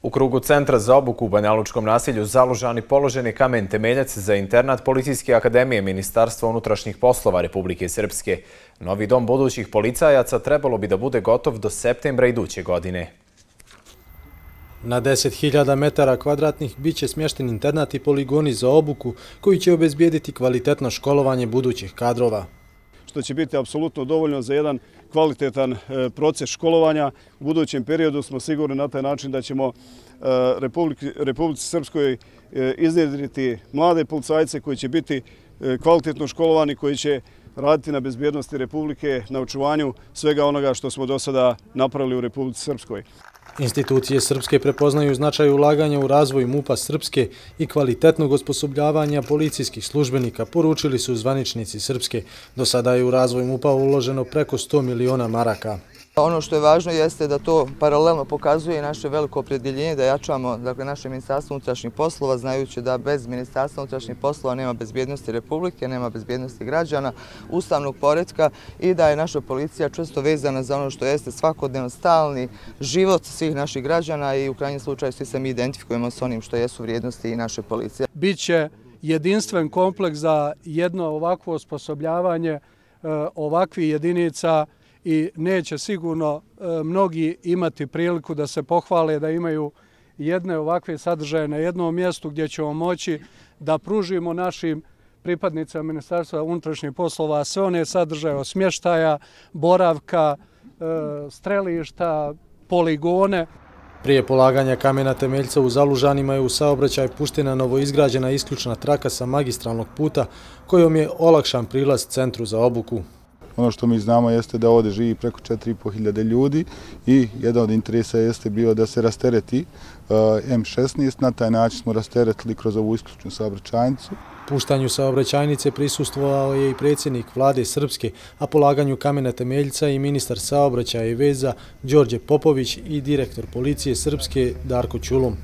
U krugu Centra za obuku u Banjalučkom naselju Zalužani položen je kamen temeljac za internat Policijske akademije Ministarstva unutrašnjih poslova Republike Srpske. Novi dom budućih policajaca trebalo bi da bude gotov do septembra iduće godine. Na 10.000 metara kvadratnih bit će smješten internat i poligoni za obuku koji će obezbijediti kvalitetno školovanje budućih kadrova. Što će biti apsolutno dovoljno za jedan kvalitetan proces školovanja. U budućem periodu smo sigurni na taj način da ćemo Republici Srpskoj iznjedriti mlade policajce koji će biti kvalitetno školovani, koji će raditi na bezbjednosti Republike, na očuvanju svega onoga što smo do sada napravili u Republici Srpskoj. Institucije Srpske prepoznaju značaj ulaganja u razvoj MUP-a Srpske i kvalitetnog osposobljavanja policijskih službenika, poručili su zvaničnici Srpske. Do sada je u razvoj MUP-a uloženo preko 100 miliona maraka. Ono što je važno jeste da to paralelno pokazuje naše veliko opredjeljenje da jačamo naše Ministarstvo unutrašnjih poslova, znajući da bez Ministarstva unutrašnjih poslova nema bezbjednosti Republike, nema bezbjednosti građana, ustavnog poretka i da je naša policija čvrsto vezana za ono što jeste svakodnevno stalni život svih naših građana i u krajnjem slučaju svi se mi identifikujemo s onim što jesu vrijednosti i naše policije. Biće jedinstven kompleks za jedno ovakvo osposobljavanje ovakvih jedinica i neće sigurno mnogi imati priliku da se pohvale da imaju jedne ovakve sadržaje na jednom mjestu gdje ćemo moći da pružimo našim pripadnicima Ministarstva unutrašnjih poslova sve one sadržaje od smještaja, boravka, strelišta, poligone. Prije polaganja kamena temeljca u Zalužanima je u saobraćaj puštena novoizgrađena isključna traka sa magistralnog puta kojom je olakšan prilaz Centru za obuku. Ono što mi znamo jeste da ovdje živi preko 4.500 ljudi i jedan od interesa jeste bio da se rastereti M16. Na taj način smo rasteretili kroz ovu isključnu saobraćajnicu. Puštanju saobraćajnice prisustvovao je i predsjednik vlade Srpske, a polaganju kamena temeljca i ministar saobraćaja i veza Đorđe Popović i direktor policije Srpske Darko Ćulum.